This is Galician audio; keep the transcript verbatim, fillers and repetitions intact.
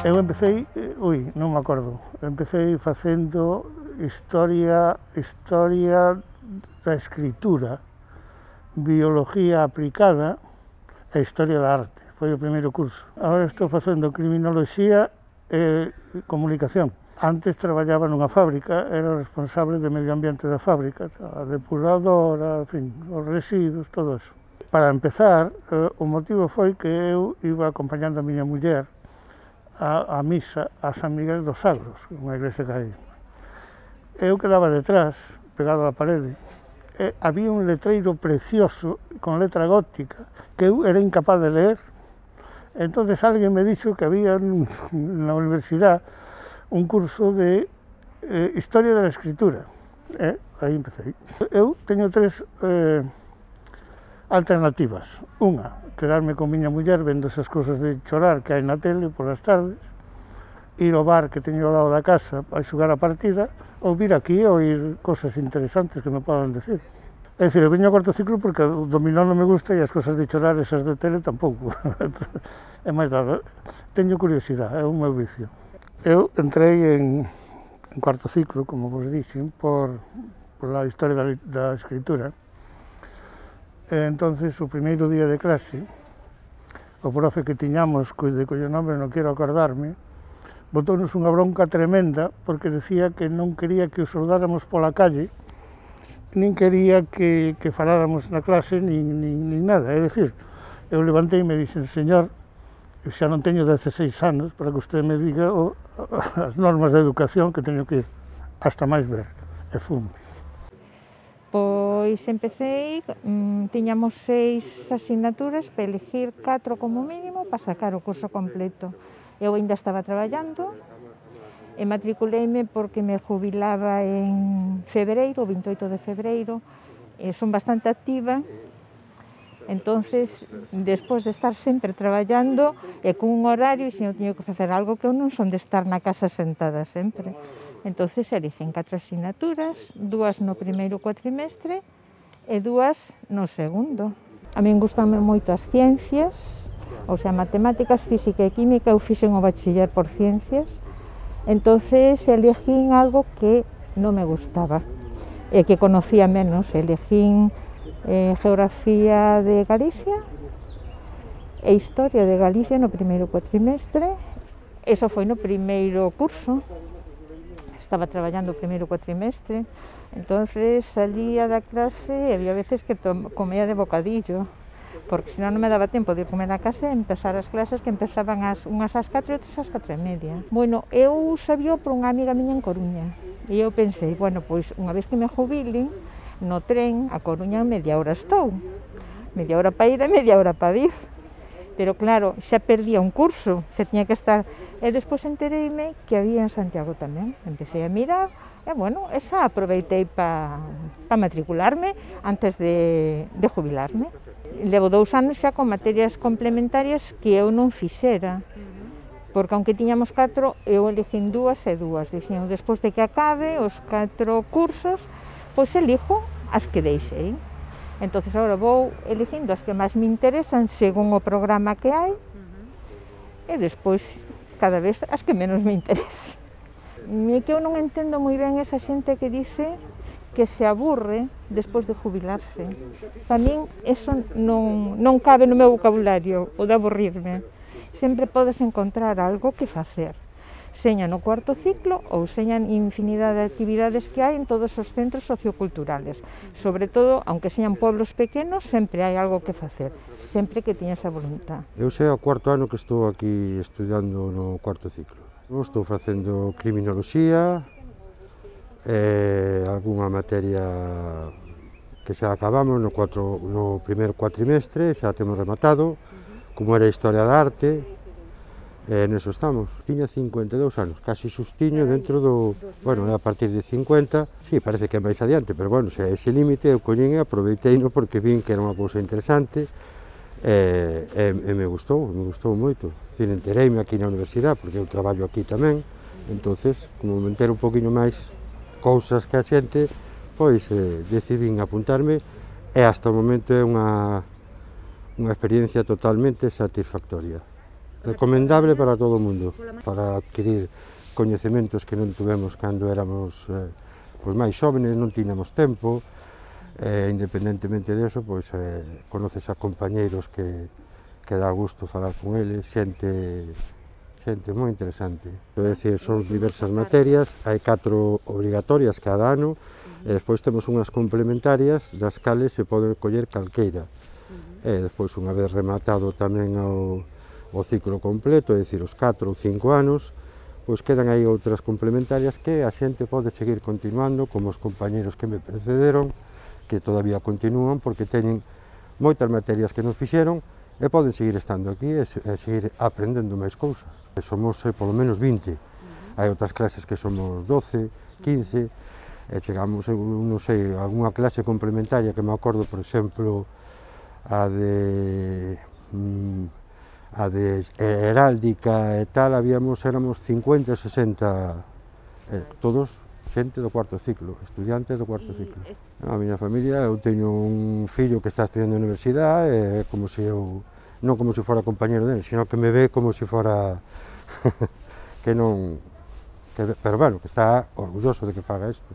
Eu empecé, ui, non me acordo, empecé facendo historia, historia da escritura, biología aplicada e historia da arte. Foi o primeiro curso. Agora estou facendo criminoloxía e comunicación. Antes traballaba nunha fábrica, era responsable de medio ambiente da fábrica, a depuradora, en fin, os residuos, todo eso. Para empezar, o motivo foi que eu iba acompañando a miña muller a, a misa a San Miguel dos Sagros, unha igrexa que hai. Eu quedaba detrás, pegado á parede, e había un letreiro precioso con letra gótica que eu era incapaz de ler. Entonces alguén me dixo que había na universidade un curso de eh, Historia da Escritura. E aí empecé. Eu teño tres eh, alternativas. Unha, quedarme con miña muller vendo esas cousas de chorar que hai na tele polas tardes, ir ao bar que teño ao lado da casa a xogar a partida, ou vir aquí a oír cosas interesantes que me podan decir. É dicir, eu veño ao cuarto ciclo porque o dominó non me gusta e as cosas de chorar esas de tele tampouco. É máis dado. Teño curiosidade, é un meu vicio. Eu entrei en, en cuarto ciclo, como vos dixen, por, por a historia da, da escritura. E entonces, o primeiro día de clase, o profe que tiñamos, de cuyo nome non quero acordarme, botónos unha bronca tremenda porque decía que non quería que os soldáramos pola calle, nin quería que, que faláramos na clase, nin, nin, nin nada. É dicir, eu levantei e me dixen, señor, eu xa non teño dezaseis anos para que usted me diga o, as normas de educación que teño que ir hasta máis ver, e fomos. Pois empecé, tiñamos seis asignaturas para elegir catro como mínimo para sacar o curso completo. Eu ainda estaba traballando e matriculeime porque me jubilaba en febreiro, o vinte e oito de febreiro, e son bastante activa. Entonces, despois de estar sempre traballando e cun horario, se eu teño que facer algo que eu non son de estar na casa sentada sempre. Entonces, eligen catro asignaturas, dúas no primeiro cuatrimestre e dúas no segundo. A min gustanme moito as ciencias, ou sea, matemáticas, física e química, eu fixen o bachiller por ciencias, entonces elegín algo que non me gustaba e que conocía menos. Elegín eh, Geografía de Galicia e Historia de Galicia no primeiro cuatrimestre. Eso foi no primeiro curso. Estaba traballando o primeiro cuatrimestre, entonces salía da clase e había veces que comía de bocadillo, porque senón non me daba tempo de comer a casa e empezar as clases que empezaban as, unhas ás catro e outras ás catro e media. Bueno, eu sabía por unha amiga miña en Coruña, e eu pensei, bueno, pois unha vez que me jubile, no tren a Coruña media hora estou, media hora para ir e media hora para vir. Pero claro, xa perdía un curso, xa tiña que estar. E despois entereime que había en Santiago tamén. Empecé a mirar, e bueno, esa aproveitei para pa matricularme antes de, de jubilarme. Levo dous anos xa con materias complementarias que eu non fixera, porque aunque tiñamos catro, eu elegín dúas e dúas. Dixen, despois de que acabe os catro cursos, pois elijo as que deixei. Entonces, agora vou eligindo as que máis me interesan según o programa que hai, uh-huh. E despois, cada vez, as que menos me interesan. E que eu non entendo moi ben esa xente que dice que se aburre despois de jubilarse. Para min, eso non, non cabe no meu vocabulario, o de aburrirme. Sempre podes encontrar algo que facer. Seña no cuarto ciclo ou señan infinidade de actividades que hai en todos os centros socioculturales. Sobre todo, aunque señan pueblos pequenos, sempre hai algo que facer, sempre que teñas a voluntad. Eu sei o cuarto ano que estou aquí estudiando no cuarto ciclo. Eu estou facendo criminoloxía, e algunha materia que xa acabamos no, cuatro, no primeiro cuatrimestre, xa temos rematado, como era a historia da arte. E neso estamos. Tiña cincuenta e dous anos, casi xustiño dentro do... Bueno, a partir de cincuenta, sí, parece que é máis adiante, pero bueno, se é ese límite, eu collín e aproveiteino porque vin que era unha cousa interesante e, e, e me gustou, me gustou moito. Dicir, entereime aquí na universidade, porque eu traballo aquí tamén, entonces, como me entero un poquinho máis cousas que a xente, pois eh, decidín apuntarme e hasta o momento é unha, unha experiencia totalmente satisfactoria. recomendable para todo o mundo, para adquirir coñecementos que non tuvemos cando éramos eh, pois máis xóvenes, non tiñamos tempo, e independentemente disso, pois eh, conoces a compañeiros que, que dá gusto falar con eles, xente, xente moi interesante. É dicir, son diversas materias, hai catro obrigatorias cada ano, e despois temos unhas complementarias das cales se pode coller calqueira. E despois, unha vez rematado tamén o, o ciclo completo, é dicir, os catro ou cinco anos, pois quedan aí outras complementarias que a xente pode seguir continuando, como os compañeros que me precederon, que todavía continúan, porque teñen moitas materias que non fixeron, e poden seguir estando aquí e, e seguir aprendendo máis cousas. E somos eh, polo menos vinte, hai outras clases que somos doce, quince, e chegamos, non sei, a algunha clase complementaria que me acordo, por exemplo, a de... Mm, a de heráldica e tal, habíamos, éramos cincuenta, sesenta, eh, todos xente do cuarto ciclo, estudiantes do cuarto ciclo. A miña familia, eu teño un fillo que está estudiando na universidade, e como se eu, non como se fora compañero dele, sino que me ve como se fora que non, que, pero bueno, que está orgulloso de que faga isto.